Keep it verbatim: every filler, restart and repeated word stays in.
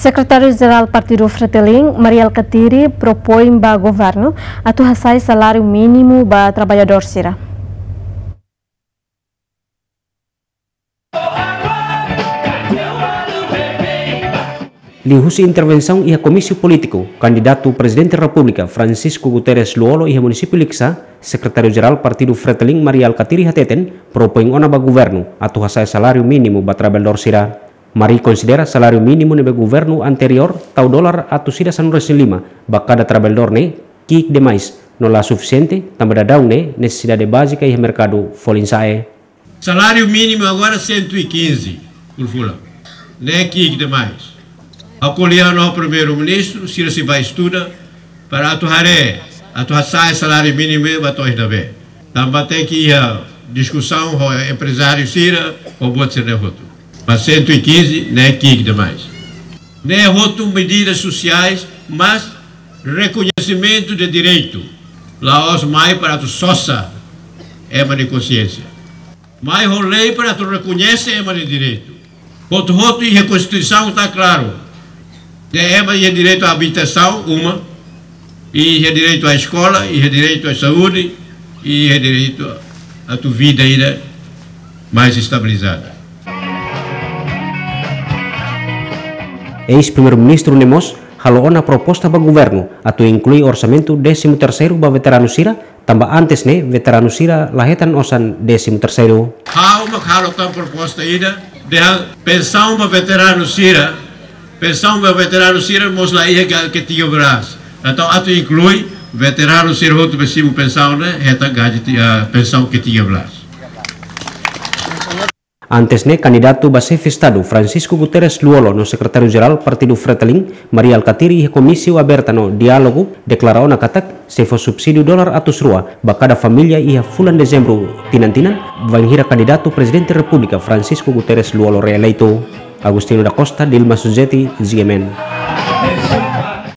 Sekretáriu-Jerál Partidu Fretilin, Mari Alkatiri, propoin ba governu atu hasa'e saláriu mínimu ba traballadór sira. Liuhusi intervensaun iha komísiu polítiku, kandidatu Prezidente Repúblika Francisco Guterres Lú-Olo iha munisípiu Likisá, Sekretáriu-Jerál Partidu Fretilin Mari Alkatiri hateten, propoin ona ba governu atu hasa'e saláriu mínimu ba traballadór sira. Mari konsidera saláriu mínimu ne'ebé governu anteriór tau dolar atus ida sanulu-resin-lima ba kada traballadór ne'e ki'ik demais, no la sufisiente, tanba daudaun ne'e nesesidade bázika iha merkadu folin sa'e. Saláriu mínimu agora cento e quinze por fulan. Ne'e ki'ik demais. Ha'u ko'alia ho Primeiru-Ministru, sira sei bá estuda para atu haree, atu hasa'e saláriu mínimu ba to'o iha ne'ebé. Tanba tenke iha diskusaun ho emprezáriu sira, ho buat sira-ne'e hotu. Mas cento e quinze ne'e ki'ik demais. Ne'e hotu medidas sosiais, mas rekoñesimentu de direitu. La'ós mai para atu sosa ema nia konxiénsia. Mai ho lei para atu rekoñese ema nia direitu. Hotu-hotu iha Konstituisaun está klaru. Ne'e ema iha direitu à abitasaun, uma, iha direitu à eskola, iha direitu à saúde, iha direitu atu vida ida mais estabilizada. Eis-Primeiru-Ministru ne'e mós halo ona proposta ba governu atu inklui orsamentu désimu terseiru ba veteranu sira, tanba antes ne'e veteranu sira la hetan osan désimu terseiru. Ha'u mak halo tan proposta ida, dehan pensaun ba veteranu sira, pensaun ba veteranu sira mós la iha ga-, ketiga belas. Entaun atu inklui veteranu sira hotu be simu pensaun ne'e, hetan gaji ti-, ah, pensaun ketiga belas. Antes ne'e, kandidatu ba Xefe Estadu Francisco Guterres Lú-Olo no Sekretáriu-Jerál Partidu Fretilin, Mari Alkatiri, iha komísiu aberta no diálogu, deklara ona katak, sei fó subsídiu dolar atus rua ba kada família iha fulan Dezembru tinan-tinan, bainhira kandidatu Prezidente Repúblika Francisco Guterres Lú-Olo reeleitu. Agostinho da Costa, Dilma Suzeti, G M N.